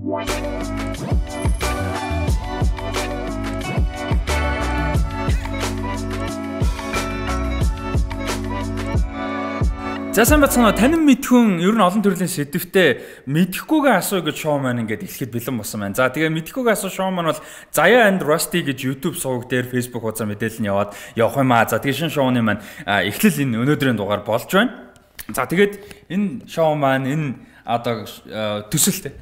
За сайн бацхан танин мэдхүн ер нь олон төрлийн сэдвтэ мэдхгүйгээ асуу гэж шоу маань ингээд эхлэхэд бэлэн болсон байна. За тэгээ мэдхгүйгээ асуу шоу маань бол Zaya and Rusty гэж YouTube суваг дээр Facebook хуудасаар мэдээлэл нь явах юм аа. За тэгээ шинэ шоуны маань эхлэл энэ өнөөдрийн дугаар болж байна. За тэгээд энэ шоу маань энэ одоо төсөлт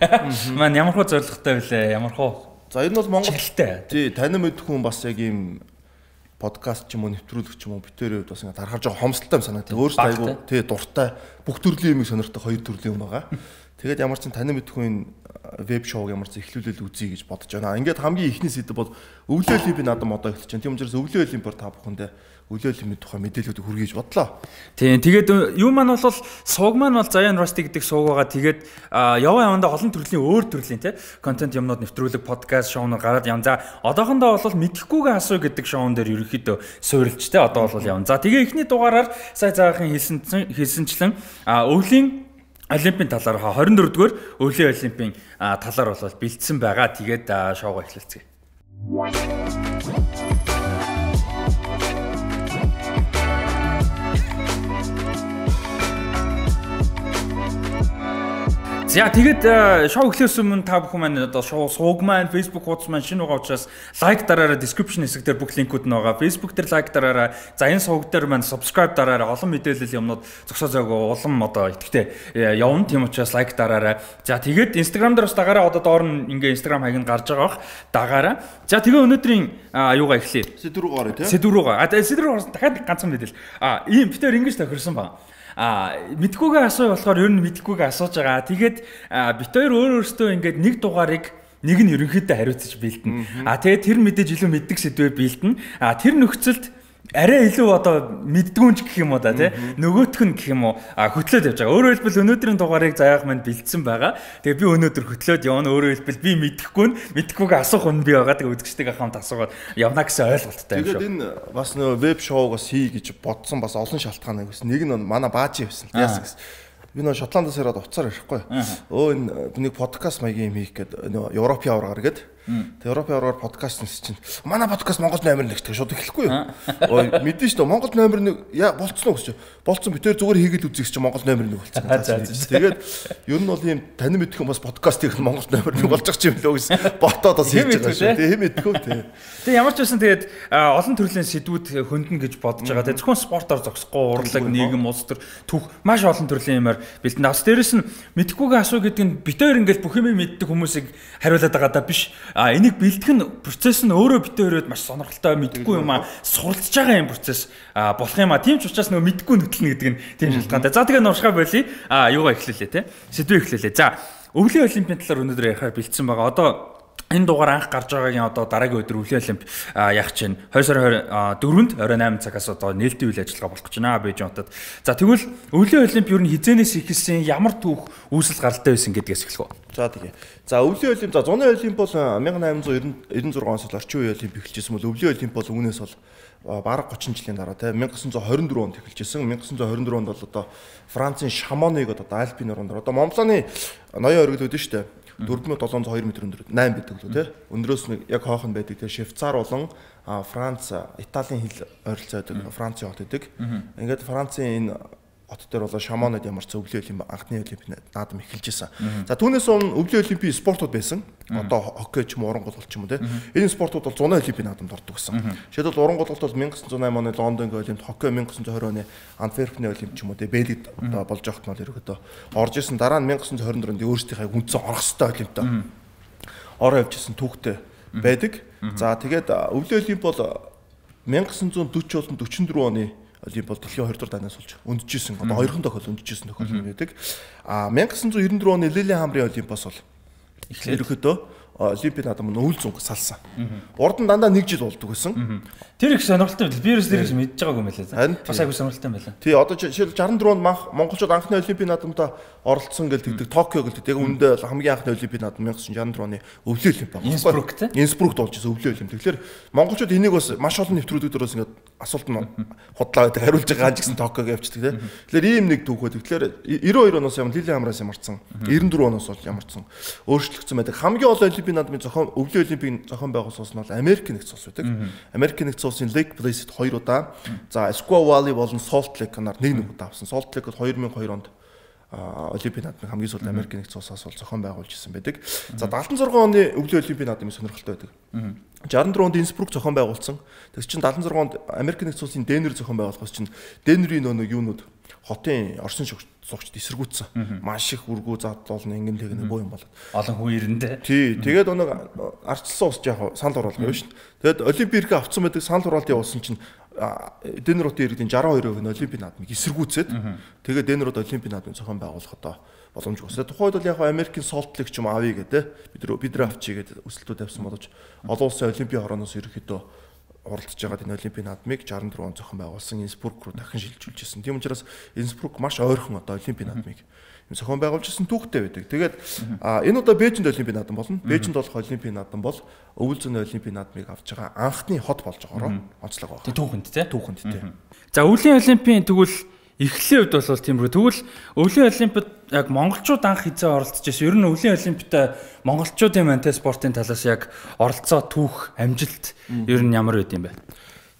маань ямар хөө зорилготой вүлээ? Ямар хөө? За энэ бол Монгол тий танин мэдхүн бас яг ийм подкаст ч юм уу нэвтрүүлэг ч юм уу битээр бас ингэ тархаж байгаа хомсдолтой юм санагдав. Өөрөөсөө айгу тий дуртай бүх төрлийн юмыг сонирхдаг хоёр төрлийн юм байгаа. Тэгээд ямар ч танин мэдхүн веб шоуг ямар ч эхлүүлэл үзье гэж бодож байна. Ингээд хамгийн ихний сэдв бол өвлөө олимпийн надад модоо эхэлж байна. Тийм учраас өвлөө олимпиар та бүхэндээ өвлөө олимпийн тухай мэдээлэлүүд хүргэж бодлоо. Тийм тэгээд юу маань бол сууг маань бол Zaya and Rusty гэдэг сууг байгаа. Тэгээд явандаа олон төрлийн өөр төрлийн тий контент юмнууд нэвтрүүлэг подкаст шоунууд гараад явна. За одоохондоо бол мэдхгүйгээ асуу гэдэг шоун дээр ерөнхийдөө суурилж тий одоо бол явна. За тэгээ эхний дугаараар сая заахан хэлсэнчлэн өвлийн Олимпийн талаар 24-р өвлийн олимпийн талаар бол бэлдсэн байгаа. Тэгээд шоугаа эхлэлцгээе. За тэгээд шоу эхлэхээс өмнө та бүхэн маань одоо шоу сууг маань Facebook хуудас маань шинэ байгаа учраас лайк дараарай, description хэсэг дээр бүх линкүүд нь байгаа. Facebook дээр лайк дараарай. За энэ сууг дээр маань subscribe дараарай. Олон мэдээлэл юмнууд зогсоо зөөгөө улам одоо итгэвтэй явна. Тийм учраас лайк дараарай. За тэгээд Instagram дээр бас дагаараа одоо доор нь ингээ Instagram хаяг нь гарч байгаа бах. Дагаараа. За тэгээ өнөөдрийн юугаа эхлэе. Сэдв рүү гараа тий. Сэдв рүү гараа. Сэдв рүү гарсан дахиад ганцхан мэдээлэл. Ийм битээр ингэж тохирсон байна. Мэдхгүйгээ асуу болохоор ер нь мэдхгүйгээ асууж байгаа. Тэгээд бит хоёр өөрөөсөө ингээд нэг дугаарыг нэг нь ерөнхийдөө хариуцаж бэлдэнэ. Тэгээд тэр мэдээж илүү мэддэг сэдвээ бэлдэнэ. Тэр нөхцөлд арай илүү одоо мэддгүүнч гэх юм уу да тий нөгөөх нь гэх юм уу хөтлөөд явж байгаа. Өөрөөр хэлбэл өнөөдрийн дугаарыг Заяах маань бэлдсэн байгаа. Тэгээ би өнөөдөр хөтлөөд явна. Өөрөөр хэлбэл би мэдхгүйгээ асуух нь би байгаа. Тэгээ үзэгчтэйгээ хамт асуугаад явна гэсэн ойлголттой юм шүү. Тэгээд энэ бас нөө веб шоугаас хий гэж бодсон бас олон шалтгаан байсан. Нэг нь манай баажи байсан. Яасан гэсэн. Би нөө Шотландаас ирээд уцаар ирэхгүй. Өө энэ нэг подкаст маягийн юм хийх гээд нөө Европын авраар гээд. Тэгээ Европын авраар подкаст нэс чинь манай подкаст Монгол номер 1 гэх шууд эхлэхгүй юу? Ой мэдэн шүү дээ Монгол номер 1 болцсон уу гэж. Болцсон би тэр зүгээр хийгээл үзэх чинь Монгол номер 1 болцсон. Тэгээд ер нь бол ийм танин мэдхэн бас подкаст хийх Монгол номер 1 болж байгаа юм лөө гэсэн ботоод бас хийж байгаа шүү. Тэгээ хэм мэдхүү тий. Тэгээ ямар ч байсан тэгээд олон төрлийн сэдвүүд хөндлөн гэж бодож байгаа. Тэгээ зөвхөн спортоор зогсохгүй урлаг нийгэм улс төр түүх маш олон төрлийн юмар бэлдэн. Бас дээрэс нь мэдхгүйгээ асуу гэдэг нь битээр ингээл бүх юм мэддэг хүмүүсийг хариулаад байгаа даа биш. Энийг бэлдэх нь процесс нь өөрөө битээрээд маш сонирхолтой мэдхгүй юм суралцж байгаа юм процесс болох юм тийм ч учраас нөгөө мэдхгүй нүтлэн гэдэг нь тийм шалтгаантай. За тэгээ нуршгаа болий юугаа эхлүүлээ те сэдвээ эхлүүлээ. За өвлийн олимпийн талаар өнөөдөр ярихаар бэлдсэн байгаа. Одоо энэ дугаар анх гарч байгаагийн одоо дараагийн өдөр өвлийн олимп яах чинь 2 сарын 24-нд 28 цагаас одоо нээлтийн үйл ажиллагаа болох гэж байна Бээжин хотод. За тэгвэл өвлийн олимп юу н хизээнээс эхэлсэн ямар түүх үүсэл гаралтай байсан гэдгээс эхлэх үү. За тэгээ. За өвлийн олимп за зуны олимп бол 1896 оноос орчин үеийн олимп эхэлжсэн бол өвлийн олимп бол үүнээс бол бараг 30 жилийн дараа те 1924 онд эхэлжсэн. 1924 онд бол одоо Францын Шамоныг одоо Альпийн орнд одоо Монбланы ноён оргил үүдэн штэ 4702 м өндөр 8 байдаг лөө тий. Өндрөөс нэг яг хоохон байдаг тий. Швейцар болон Франц, Италийн хил ойролцоо байдаг. Францын хот байдаг. Ингээд Францын энэ хот дээр болоо Шамонод ямар ч өвлийн олимп анхны олимп наадам эхэлжсэн. За түүнээс өмнө өвлийн олимпийн спортууд байсан. Одоо хоккей ч юм уу, уран гулгалт ч юм уу тий. Энэ спортууд бол зуны олимпийн наадамд ордог гэсэн. Жишээлбэл уран гулгалт бол 1908 оны Лондонгийн олимп, хоккей 1920 оны Антверпений олимп ч юм уу тий. Бэлгид одоо болж явахт нь ерөөдөө орж исэн. Дараа нь 1924 онд өөрсдийнхээ үндсэн орох ёстой олимптой ороо явжсэн түүхтэй байдаг. За тэгээд өвлийн олимп бол 1940 болон 44 оны олимп бол дэлхийн 2 дугаар дайнаас болж өндөжсэн. Одоо хоёрхан тохиол өндөжсэн тохиол байдаг. 1994 оны Лилиенхамрын олимпиас бол ерөөхдөө олимпийн наадам нь өвөл зөнгө салсан. Урд нь дандаа 1 жил болдог гэсэн. Тэр их сонирхолтой байл. Би ерөөс тэрийг мэдж байгаагүй юм байлаа. Бас айгүй сонирхолтой байлаа. Тий, одоо жишээл 64-нд монголчууд анхны олимпийн наадамд оролцсон гэж тэгдэг. Токио гэлдэг. Яг үүндээ хамгийн анхны олимпийн наадам 1964 оны өвлийн олимп байна. Инсбрук болж исэн өвлийн олимп. Тэгэхээр монголчууд энийг бас маш олон нэвтрүүлэг дөрөөс ингээд асуулт нь худлаа гэдэг хариулж байгаа ч гэсэн Токиог явчихдаг тий. Тэгэхээр ийм нэг түүхүүд. Тэгэхээр 92 оноос юм Лилиамраас ямарсан. 94 оноос бол ямарсан. Өөрчлөгдсөн байдаг. Хамгийн олон олимпийн наадмын зохион өвлийн олимпийн зохион байгуулсан улс нь бол Америк нэгдсэн улс байдаг. Америк нэгдсэн улсын Lake Placid 2 удаа. За Squaw Valley болон Salt Lake-аар 1 удаа авсан. Salt Lake бол 2002 онд олимпийн наадмын хамгийн сүүлд Америк нэгдсэн улсаас бол зохион байгуулж ирсэн байдаг. За 76 оны өвлийн олимпийн наадмын сонирхолтой байдаг. 64 онд Инсбрук зохион байгуулсан. Тэгс чинь 76 онд Америк нэгдсэн улсын Денвер зохион байгуулахаас чинь Денверийн нэг юунууд хотын оршин суугчд эсэргүүцсэн. Маш их үргүү задлуулна ингэн тэгнэ боо юм болоод. Олон хүн ирэндээ. Тий, тэгээд өнөг арчилсан ус яг санал оруулах юм шүү дээ. Тэгээд олимпиарк авцсан байдаг санал оруулалт явуулсан чинь Денверийн иргэдийн 62% нь олимпийн наадмыг эсэргүүцээд тэгээд Денверод олимпийн наадмын зохион байгуулах одоо боломжгүй. Тухайд бол яг Америкийн Salt Lake ч юм авъя гэдэг бид нар авчий гэдэг өсөлтүүд тавьсан боловч олон улсын олимпийн хорооноос ерөөхдөө оролцож байгаа энэ олимпийн наадмыг 64 он зохион байгуулсан Инсбрук руу дахин шилжүүлж ирсэн. Тийм учраас Инсбрук маш ойрхон одоо олимпийн наадмыг зохион байгуулж ирсэн түүхтэй байдаг. Тэгээд энэ удаа Бээжинд олимпийн наадам болно. Бээжинд болох олимпийн наадам бол өвөл зөний олимпийн наадмыг авч байгаа анхны хот болж байгаараа онцлог байна. Түүхэнд тий. Түүхэнд тий. За өвлийн олимпийн тэгвэл эхлэлийн үед бол тиймэрхүү. Тэгвэл өвлийн олимпиад яг монголчууд анх хизээ оролцож байсан. Ер нь өвлийн олимпиад монголчуудын мантай спортын талаас яг оролцоо түүх амжилт ер нь ямар байд юм бэ?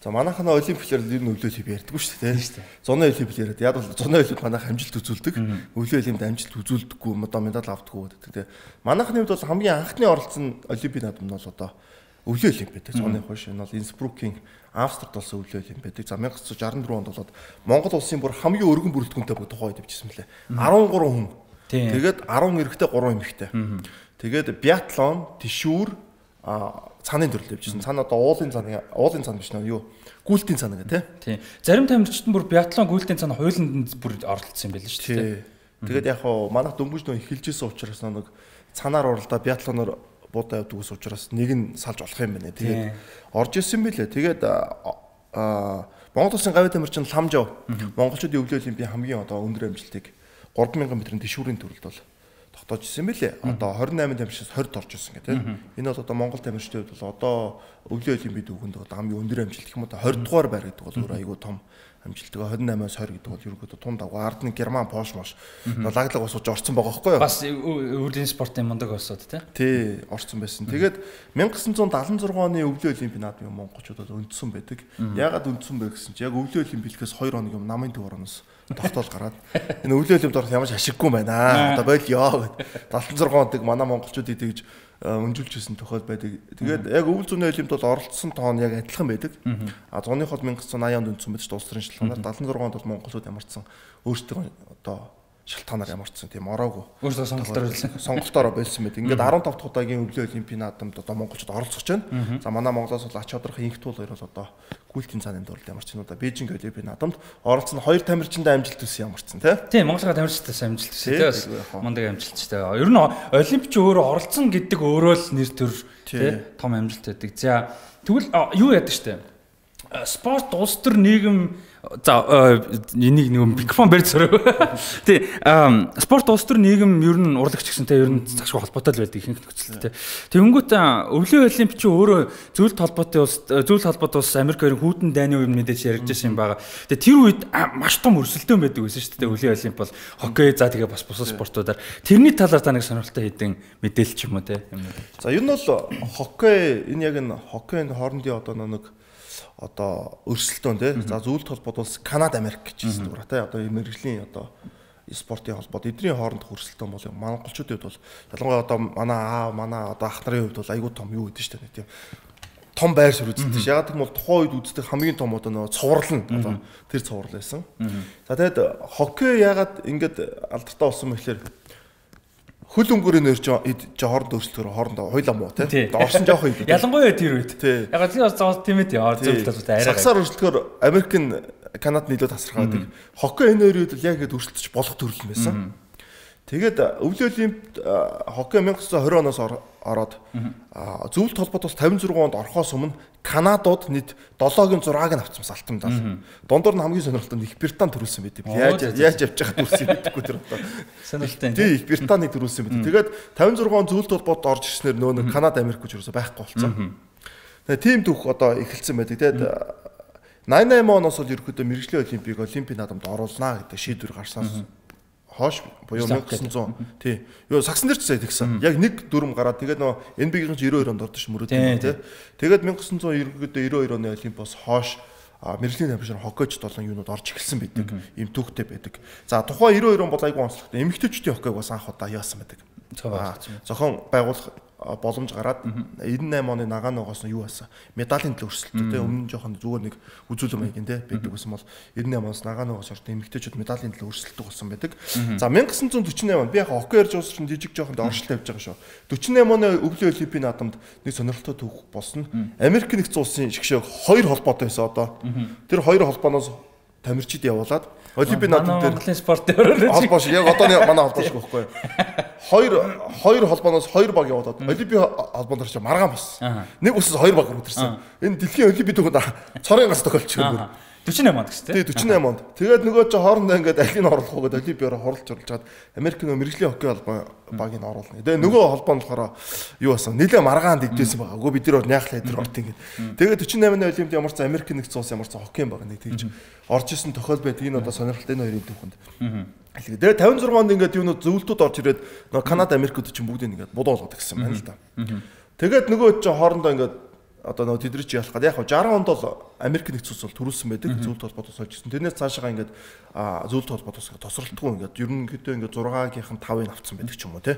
За манайхаа олимпиадаар ер нь өвлийн олимп ярьдаггүй шүү дээ. Зуны олимпиад яриад яг бол зуны олимп манайх амжилт үзүүлдэг. Өвлийн олимпиад амжилт үзүүлдэггүй, одоо медаль авдаггүй гэдэг. Манайхны хувьд бол хамгийн анхны оролцсон олимпийн наадам нь бол одоо өвлийн олимпиад. Зуны хойш энэ бол Инсбрукийн Австрид болсон өвлийн олимпиад. За 1964 онд болоод Монгол улсын бүр хамгийн өргөн бүрэлдэхүүнтэй бүх тухай дэвжсэн мөлий. 13 хүн. Тэгээд 10 эрэгтэй 3 эмэгтэй. Тэгээд биатлон, тишүүр, цааны төрөл дэвжсэн. Цаана одоо уулын цаан биш нөө юу? Гүйлтийн цаана гэх тий. Зарим тамирчид бүр биатлон гүйлтийн цаана хуулинд бүр оролцсон юм байл шүү дээ. Тэгээд яг хаа манайх дөнгөж нөө эхэлжсэн учраас нэг цанаар уралдаа биатлоноор буудаа явдаг ус учраас нэг нь салж болох юм байна. Тэгээд орж ирсэн билээ. Тэгээд Монгол улсын гавь тамирчин Ламжав монголчуудын өвлийн олимпийн хамгийн одоо өндөр амжилтыг 3000 м-ийн тишүүрийн төрөлд бол тогтоож ирсэн билээ. Одоо 28 тамирчид 20-д орж ирсэн гэх тийм. Энэ бол одоо Монгол тамирчдын хувьд бол одоо өвлийн олимпийн түүхэнд одоо хамгийн өндөр амжилт гэх юм одоо 20 дугаар байр гэдэг бол өөр айгүй том амжилт. 28-аас 20 гэдэг бол ерөөдөө тун давга ард нь Герман, Польш маш лаглаг ус ууж орцсон байгаа байхгүй юу? Бас өвлийн спортын мундаг осууд тий орцсон байсан. Тэгээд 1976 оны өвлийн олимпийн наадмын монголчууд бол өндсөн байдаг. Яагаад өндсөн бэ гэсэн чи яг өвлийн олимпиадээс 2 хоног юм намын төв ороноос тогтоол гараад энэ өвлийн олимпиад орох ямар ч ашиггүй байна. Одоо болёо гэд 76 онд манай монголчуудыг тэгж өнжүүлжсэн тохиол байдаг. Тэгээд яг өвөл зөний олимпиад бол оролцсон тоон яг адилхан байдаг. А зуны хол 1980 онд өндсөн байж улс төрийн шалтгаанаар 76 онд бол монголчууд ямарчсан өөрсдөө одоо шалтгаанаар ямарчсан тийм ороогүй. Өөрсдөө сонголтоор болсон байдаг. Ингээд 15 дахь удаагийн өвлийн олимпийн наадамд одоо монголчууд оролцож байна. За манай Монголоос бол ач холбогдох инх туул хоёр бол одоо гүйлтийн цааны дурлал ямарчсан удаа Бээжинг олимпийн наадамд оролцсон 2 тамирчиндаа амжилт төссөн ямарчсан тийм Монголын тамирчдаас амжилт төссөн тийм мундаг амжилттай. Ер нь олимпич өөрөө оролцсон гэдэг өөрөө л нэр төр тийм том амжилт байдаг. За тэгвэл юу яадаг штэ спорт улс төр нийгэм за энийг нэг микрофон барьж сөрөө. Тий спорт улс төр нийгэм ер нь урлагч гэсэнтэй ер нь загшгүй холбоотой л байдаг ихэнх нөхцөлтэй. Тэгэнгүүт өвлийн олимпич өөрөө зөвлөлт холбоотой улс Америк хоёрын хүйтэн дайны үеийн мэдээж ярьж байсан юм байгаа. Тэгээ тэр үед маш том өрсөлдөөн байдаг байсан шүү дээ. Өвлийн олимп бол хоккей за тэгээ бас бусад спортуудаар тэрний талаар та нэг сонирхолтой хэдэн мэдээлэл ч юм уу те. За ер нь бол хоккей энэ яг энэ хоккейн хоорондын одоо нэг одоо өрсөлдөөн тий. За зөвлөлт холбоод улс Канада, Америк гэж хэлсэн дураа тий. Одоо мэргэжлийн одоо спортын холбоод эдний хоорондох өрсөлдөөн бол монголчуудын хувьд бол ялангуяа одоо манай одоо ах нарын хувьд бол айгүй том юу гэдэг шүү дээ тий. Том байр суурь үздэг. Ягаад гэвэл тухайн үед үздэг хамгийн том одоо нөө цуврал нь одоо тэр цуврал байсан. За тэгээд хоккей ягаад ингэж алдартай болсон бэ гэхээр хөл өнгөрийн нэр хооронд өөрчлөлтөөр хоорондоо хуйлаа муу тий. Орсон жоох юм. Ялангуяа тэр үед. Яг тийм зовлт тийм ээ. Зөвлөлтөд арай. Сагсаар өөрчлөлтөөр Америк Канад нийлээд тасархаа байдаг. Хоккей энэ хоёр үед л яг ингэж өөрчлөлтөж болох төрөл юм байсан. Тэгээд өвлийн олимпиад хоккей 1920 оноос ороод зөвлөлт холбоот бас 56 онд орохоос өмнө Канадууд нийт 7-гийн 6-ыг авсан бас алтан медаль. Дундуур нь хамгийн сонирхолтой нь Их Британь төрүүлсэн байдаг. Яаж явж байгаа төрүүлсэн байдаггүй тэр одоо. Сонирхолтой. Тий, Их Британыг төрүүлсэн байдаг. Тэгээд 56 он зөвлөлт холбоот орж ирснээр нөө Канада, Америк гэж юусоо байхгүй болсон. Тэгээд тим түүх одоо эхэлсэн байдаг. Тэгээд 88 оноос бол ерөөхдөө мэрэгжлийн олимпийн наадамд оруулнаа гэдэг шийдвэр гарснаас хоош буюу 1900 тий. Юу сагсан дээр ч сая тэгсэн. Яг нэг дүрм гараад тэгээд нөө NBA-ийн 92 онд ордож мөрөөд тий. Тэгээд 1992 оны олимпиос хоош мэрэгжлийн тамирчин хоккейч 7 юунууд орж эхэлсэн байдаг. Ийм түүхтэй байдаг. За тухайн 92 он бол айгүй онцлогтой. Эмэгтэйчүүдийн хоккейг бас анх удаа яасан байдаг. Зохион байгуулах боломж гараад 98 оны Наганоогоос нь юу байсан? Медалийн төлөө өрсөлдөө тий. Өмнө нь жоохон зүгээр нэг үзүүлэлт маягийн тий байдаг гэсэн бол 98 оноос Наганоогоос орж эмэгтэйчүүд медалийн төлөө өрсөлдөө болсон байдаг. За 1948 он би яг хоккей ярьж уус чинь жижиг жоохон оршилт тавьж байгаа шүү. 48 оны өвлийн олимпийн наадамд нэг сонирхолтой түүх болсон. Америк нэгдсэн улсын шгшээ 2 холбоотой байсан одоо. Тэр 2 холбооноос тамирчид явуулаад олимпийн наадам дээр Монголын спортын холбоо шиг яг одоо манай холбоо шиг байхгүй юу? Хоёр холбооноос 2 баг явуулаад олимпийн холбоонд ч маргаан болсон. Нэг усаас 2 баг рүү энэ дэлхийн олимпийн түүхэнд цорын гас тохиолдчихгүй. 48 онд гэсэн тий 48 онд. Тэгээд нөгөө чи хоорондоо ингээд алийг нь оруулах уу гэдэг олимпиараа хорлож чад Америкийн мэрэгжлийн хоккей холбоо багийг нь оруулна. Тэгээд нөгөө холбоо нь болохоор юу басан нэлээ маргаанд идсэн байгаа. Үгүй бид нар яахлаа тэр орт ингээд. Тэгээд 48-ны олимпиад ямар ч Америкийн нэгдсэн улс ямар ч хоккей баг нэг тэгж орж исэн тохиол байдаг. Энэ одоо сонирхолтой энэ хоёрын түүхэнд. Тэгээд 56 онд ингээд юунууд зөвлөлтүүд орж ирээд нөгөө Канада, Америкууд чинь бүгдийг ингээд бодоолгоод гэсэн байна л да. Тэгээд нөгөө чи хоорондоо ингээд одоо нөгөө тэдний чи ялах гад яг 60 онд бол Америк нэгдсэн улс бол төрүүлсэн байдаг зөвлөлт холбоотоос олж ирсэн. Тэрнээс цаашаа ингээд зөвлөлт холбоотоос тосролтгүй ингээд ерөнхийдөө ингээд 6-гийн 5-ыг авцсан байдаг ч юм уу те.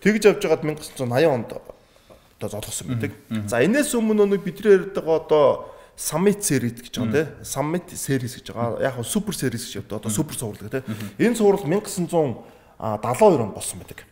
Тэгж явж байгаад 1980 онд одоо золгосон байдаг. За энэс өмнө нэг бидний ярьдаг одоо Summit Series гэж байгаа те. Summit Series гэж байгаа. Яг супер series гэж явдаг. Одоо супер цуврал те. Энэ цуврал 1972 онд болсон байдаг.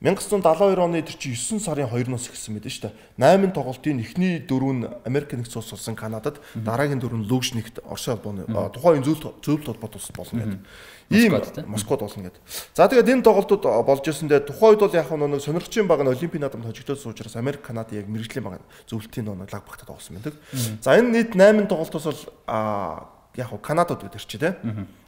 1972 оны тэр чи 9 сарын 2-ноос эхэлсэн байдаг шүү дээ. 8 тоглолтын эхний 4 нь Америк нэгдсэн улс болсон Канадад, дараагийн 4 нь Лугшнигт Оросын холбооны тухайн зөвлөлт холбоот улс болно гэдэг. Ийм Москвад болно гэдэг. За тэгээд энэ тоглолтууд болж ирсэн дээр тухайн үед бол яг нэг сонирхчийн баг нь олимпийн наадамд хожигдсон учраас Америк, Канада яг мэрэгжлийн баг зөвлөлтийн лаг багтаад болсон байдаг. За энэ нийт 8 тоглолтоос бол яг Канадад байдаг чи тэ.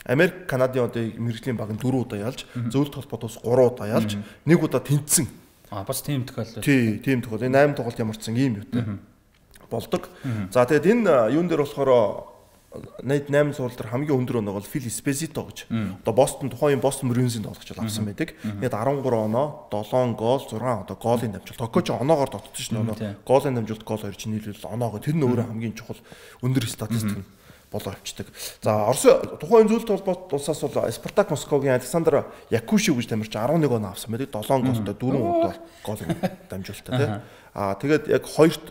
Америк, Канадын одоо мэрэгжлийн баг нь 4 удаа ялж, зөвлөлт холбоотоос 3 удаа ялж, 1 удаа тэнцсэн. Бас тийм тохиолдол. Тий, тийм тохиолдол. Энэ 8 тоглолт ямарчсан ийм юутай болдог. За тэгээд энэ юун дээр болохоор найд 8 сурал дээр хамгийн өндөр оноо бол Фил Эспезито гэж. Одоо Бостон тухайн Бостон Брюинсийн тоглогч авсан байдаг. Ингээд 13 оноо, 7 гол, 6 одоо голын дамжуулалт. Токио ч оноогоор дотсон шнэ оноо. Голын дамжуулалт гол 2 чинь нийлүүл оноогоо тэр нь өөрөө хамгийн чухал өндөр статистик болоо авчдаг. За Оросын тухайн зөвлөлт холбоот улсаас бол Спартак Москвагийн Александр Якушев гэж тамирч 11 оноо авсан байдаг. 7 голтой 4 удаа голын дамжуулалттай тий. Тэгээд яг хоёрт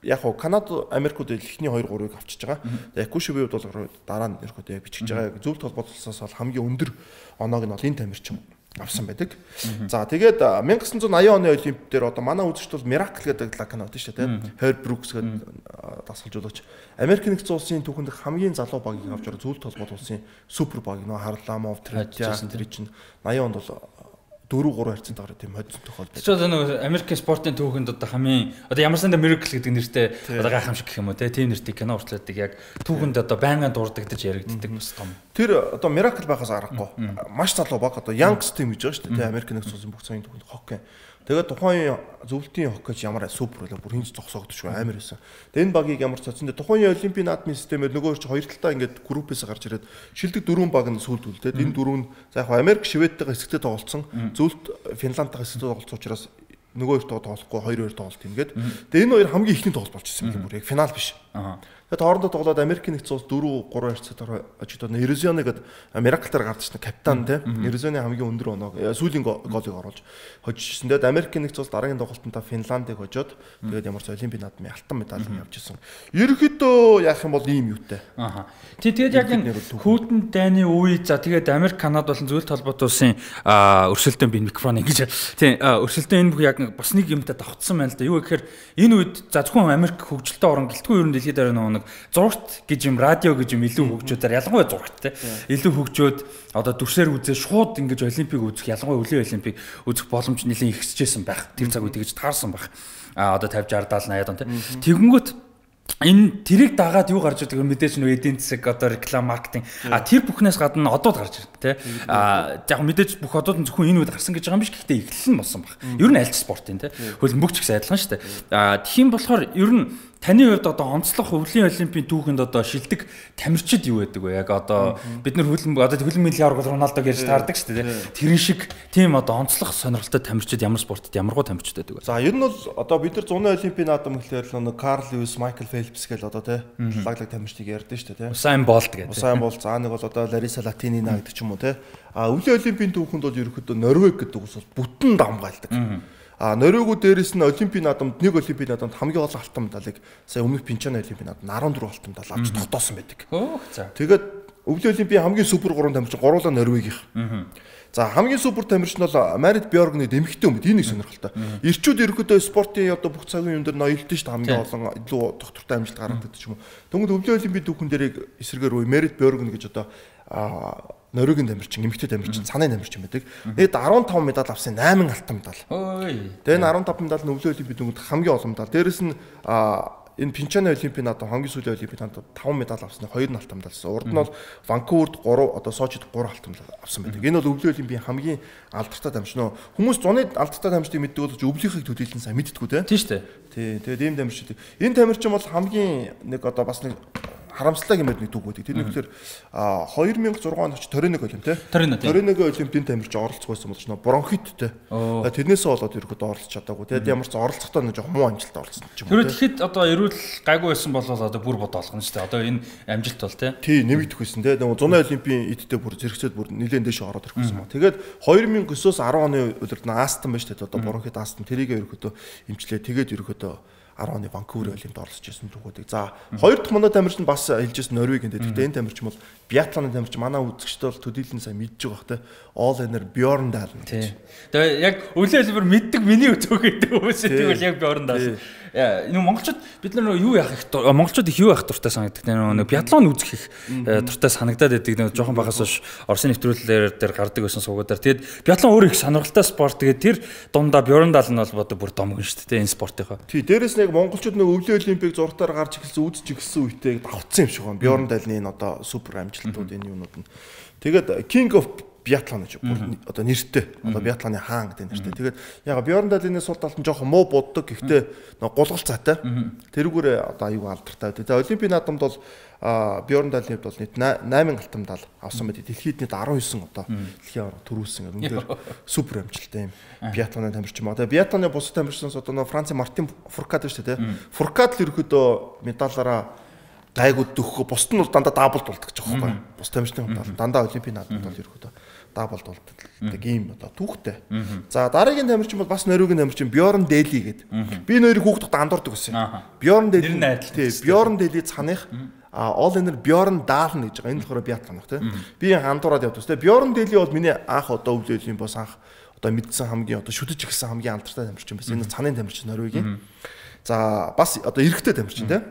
яг Канада, Америкууд эхний 2 3-ыг авчиж байгаа. Якушевийн хувьд бол дараа нь ерөөхдөө яг бичиж байгаа. Зөвлөлт холбоот улсаас бол хамгийн өндөр оноог нь бол энэ тамирчин авсан байдаг. За тэгээд 1980 оны олимпиад дээр одоо манай үзэгчд бол Miracle гэдэг лаг кино байдаг шүү дээ тийм. Herb Brooks гэдэг дасгалжуулагч Америк нэгдсэн улсын түүхэнд хамгийн залуу багийг авч байгаа зөвлөлт холбоот улсын супер баг нөө Харламов Третья тэр чинь 80 онд бол 4-3 харьцантайгаар тийм хоцсон тохиолдол. Чи одоо нэг Америкийн спортын түүхэнд одоо хамгийн одоо ямар санда Miracle гэдэг нэртэй одоо гайхамшиг гэх юм уу тийм нэртэй кино уртлаадаг яг түүхэнд одоо байнгын дурддагдаж яригддаг бас том. Тэр одоо Miracle байхаас аргагүй. Маш залуу баг одоо Youngs team гэж байгаа шүү дээ тийм Америк нэгдсэн улсын бүх цагийн түүхэнд хоккей. Тэгээд тухайн зөвлөлтийн хоккейч ямар супер болоо бүр хинж зогсоогдчихгүй амар байсан. Тэгээд энэ багийг ямар цацсан дээр тухайн олимпийн наадмын системээр нөгөө чи хоёр талдаа ингээд группээс гарч ирээд шилдэг 4 баг нь сүүлд үлдээд энэ 4 нь за яг Америк Шведтэйгээ хэсэгтээ тоглолцсон зөвлөлт Финландтайгаа хэсэгтээ тоглолцсон учраас нөгөө хоёр тоглохгүй 2-2 тоглолт ингээд. Тэгээд энэ хоёр хамгийн ихний тоглолт болж ирсэн юм бүр яг финал биш. Тэгээд хоорондоо тоглоод Америк нэгдсэн улс 4-3 харьцаатаар очоод Эризоны гэдэг Miracle-аар гарч ирсэн капитан тийм Эризоны хамгийн өндөр оноог сүүлийн голыг оруулж хожижсэн. Тэгээд Америк нэгдсэн улс дараагийн тоглолтод Финландыг хожоод тэгээд ямар ч олимпийн наадмын алтан медаль авч ирсэн. Ерөнхийдөө яах юм бол ийм юутай. Тэгээд яг энэ Хүйтэн дайны үе за тэгээд Америк Канада болон зөвлөлт холбоот улсын өрсөлдөөн би микрофон ингэж тийм өрсөлдөөн энэ яг бас нэг юмтай давхцсан байна л да. Юу гэхээр энэ үед за зөвхөн Америк хөгжилтэй орн гэлтгүй ерөн дэлхийд дээр нэг зурагт гэж юм радио гэж юм илүү хөгжөөдөр ялангуяа зурагт те илүү хөгжөөд одоо дүрсээр үзээ шууд ингэж олимпик үзэх ялангуяа өвлийн олимпик үзэх боломж нэлээд ихсэжсэн байх. Тэр цаг үед гэж таарсан байх. Одоо 50 60 70 80 он те. Тэгэнгүүт энэ тэрийг дагаад юу гарч ирдэг мэдээж нөө эдийн засаг одоо реклам маркетинг тэр бүхнээс гадна одод гарч ирнэ те яг мэдээж бүх одод нь зөвхөн энэ үед гарсан гэж байгаа юм биш гэхдээ эхлэл нь болсон баг. Ер нь аль ч спортын те хөлбөмбөгч гэсэн адилхан шүү дээ. Тхиим болохоор ер нь таны хувьд одоо онцлог өвлийн олимпийн түүхэнд одоо шилдэг тамирчид юу байдаг вэ? Яг одоо бид нар хөлбөмбөгийн аврал Роналдог ярьж таардаг шүү дээ. Тэрэн шиг тийм одоо онцлог сонирхолтой тамирчид ямар спортод ямаргуу тамирчид байдаг вэ? За ер нь бол одоо бид нар 100 олимпийн наадам гэхлээр нэг Карл Льюис, Майкл Фелпс гэл одоо те лаглаг тамирчдыг ярьдэн шүү дээ те. Усайн Болт гэдэг. Усайн Болт за нэг бол одоо Лариса Латинина гэдэг ч юм уу те. Өвлийн олимпийн түүхэнд бол ерөөхдөө Норвег гэдэг ус бол бүтэн дамгаалдаг. Норвегууд дээрээс нь олимпийн наадамд нэг олимпийн наадамд хамгийн олон алтан медалыг сая өмнөх Пинчаны олимпийн наадамд 14 алтан медаль авч тогтоосон байдаг. Тэгээд өвлийн олимпийн хамгийн супер 3 тамирчин гуруула Норвегийнх. За хамгийн супер тамирчин бол Марит Бьоргны дэмэгтэй юм. Энэ нэг сонирхолтой. Ирчүүд ерөөдөө спортын одоо бүх цагийн юм дээр ноёлтон шүү дээ хамгийн олон илүү доктортой амжилт гаргадаг ч юм уу. Тэгвэл өвлийн олимпийн түүхэн дээрийг эсрэгээр үе Марит Бьоргн гэж одоо Норвегийн тамирчин, эмэгтэй тамирчин, цанын тамирчин байдаг. Нэг 15 медаль авсан 8 алтан медаль. Тэгээ энэ 15 медаль нь өвлийн олимпийн дүнгууд хамгийн олон медаль. Дээрэс нь энэ Пинчаны олимпийн наадам хамгийн сүүлийн олимпийн наадамд 5 медаль авсан 2 алтан медальсан. Урд нь бол Ванкуверд 3 одоо Сочид 3 алтан медаль авсан байдаг. Энэ бол өвлийн олимпийн хамгийн алдартай тамирчин. Хүмүүс зуны алдартай тамирчдыг мэддэг бол өвлийнхийг төдийлэн сайн мэддэггүй те. Тийм шүү дээ. Тий. Тэгээд ийм тамирчид. Энэ тамирчин бол хамгийн нэг одоо бас нэг харамслаа гэмэд нэг түүх байдаг. Тэр нэг тэгэхээр 2006 онд ч Ториног олимп те. Ториногийн олимпийн тамирч оролцох байсан болж нөө бронхиттэй. Тэрнээсээ болоод ирэхэд оролцож чадаагүй. Тэгээд ямар ч оролцохдоо нэг жоохон муу амжилт оролцсон ч юм уу. Тэр тэгэхэд одоо эрүүл гайгүй байсан бол одоо бүр бодоолгоно шүү дээ. Одоо энэ амжилт бол те. Тий, нэмэгдэх байсан те. Нэг 100 олимпийн эдтэй бүр зэрэгцээд бүр нэлээд дэше ороод ирэх байсан ба. Тэгээд 2009-оос 10 оны үлрэлт нь Астон байж те. Одоо бронхит Астон тэрийг ерөөхдөө эмчлээ. Тэгээд ерөөхдөө 10 оны Ванкувер олимпиад оролцож байсан түүхүүдийг. За хоёр дахь манай тамирчин бас хэлжсэн Норвегийн. Гэхдээ энэ тамирчин бол биатлоны тамирчин манай үзэгчтэй бол төдийлэн сайн мэдж байгаа бах те. All Energy Bjorn Dahl гэж. Тэгээ яг өвлийн хэлбэр мэддэг миний өтөөгөө хүмүүс тэгвэл яг Bjorn Dahl. Энэ монголчууд бид нар юу яах их монголчууд их юу яах дуртай санагддаг. Нэг биатлон үзэх их дуртай санагдаад байдаг. Нэг жоохон багаас хойш Оросын нэвтрүүлгээр дээр гардаг байсан суугуудаар. Тэгээд биатлон өөр их сонирхолтой спорт. Тэгээд тэр дундаа Bjorn Dahl нь бол одоо бүр домгон шүү дээ энэ спортынхаа. Тий, дээрэс нэг монголчууд нэг өвлийн олимпийг зургатаар гарч эхэлсэн үзэж эхэлсэн үедээ давцсан юм шиг байна. Bjorn Dahl-ны энэ одоо супер амжилтууд энэ юмнууд нь. Тэгээд King of биатлон гэж одоо нэртэй. Одоо биатлоны хаан гэдэг нэртэй. Тэгээд яг Bjorn Dahl-ны сул талд нь жоохон муу боддог. Гэхдээ гулгалцаатай. Тэрүүгээр одоо аюу алдартай. Тэгээд олимпийн наадамд бол Bjorn Dahl-ны бол нийт 8 алтан медаль авсан байдаг. Дэлхийд нийт 19 одоо дэлхийн аврал төрүүлсэн. Үнээр супер амжилттай юм. Биатлоны тамирчин ба. Тэгээд биатлоны бус тамирчнаас одоо Францын Мартин Фуркад шүү дээ. Фуркад л ерөөдөө медалаараа гайгууд дөхөх. Бусд нь бол дандаа даблд болдог гэж байгаа байхгүй. Бус тамирчны хувьд дандаа олимпийн наадамд бол ерөөдөө даблд болдог ийм одоо түүхтэй. За дараагийн тамирчин бол бас Норвегийн тамирчин Bjorn Dahl гэдэг. Би нөрийг хүүхдэгт андуурдаг байсан. Bjorn Dahl. Тий, Bjorn Dahl цаных All Energy Bjorn Dahl гэж байгаа. Энэ болохоор биатлонох тий. Би андуураад явдаг. Тэгээ Bjorn Dahl бол миний анх одоо өвлөлийн бос анх одоо мэдсэн хамгийн одоо шүтэж ихсэн хамгийн алдартай тамирчин байсан. Энэ цанын тамирчин Норвегийн. За бас одоо эрэгтэй тамирчин тий.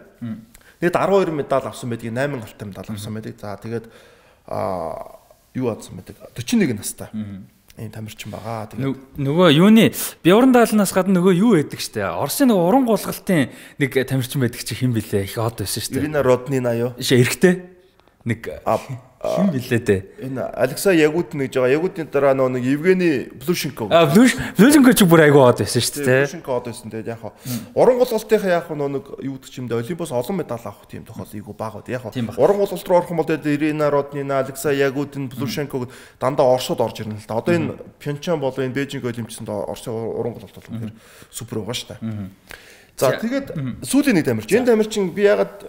Тэгээд 12 медаль авсан байдаг, 8 алтан медаль авсан байдаг. За тэгээд юу авсан байдаг? 41 настай. Энэ тамирчин байгаа. Тэгээд нөгөө юуны Bjorn Dahl-наас гадна нөгөө юу байдаг штэ. Оросын нөгөө уран гулгалтын нэг тамирчин байдаг чи хэн блэ? Их од байсан штэ. Ирина Роднина юу? Эрэгтэй. Нэг хэн блэ дээ? Энэ Алексей Ягудин гэж байгаа. Ягудины дараа нэг Евгений Плюшенко. Плюшенко ч бүр айгүй од байсан шүү дээ. Плюшенко од байсан. Тэгээд яг уран гулгалтынхаа яг нэг юу гэдэг юм дэ Олимпиос олон медаль авах тийм тохиол айгүй бага. Яг уран гулгалт руу орох юм бол Ирина Роднина, Алексей Ягудин, Плюшенко дандаа Оросод орж ирнэ л да. Одоо энэ Пьончан болон энэ Бээжинг олимпиаданд Оросын уран гулгалт бол үнэхээр супер байгаа шүү дээ. За тэгээд сүүлийн нэг тамирчин. Энэ тамирчин би ягаад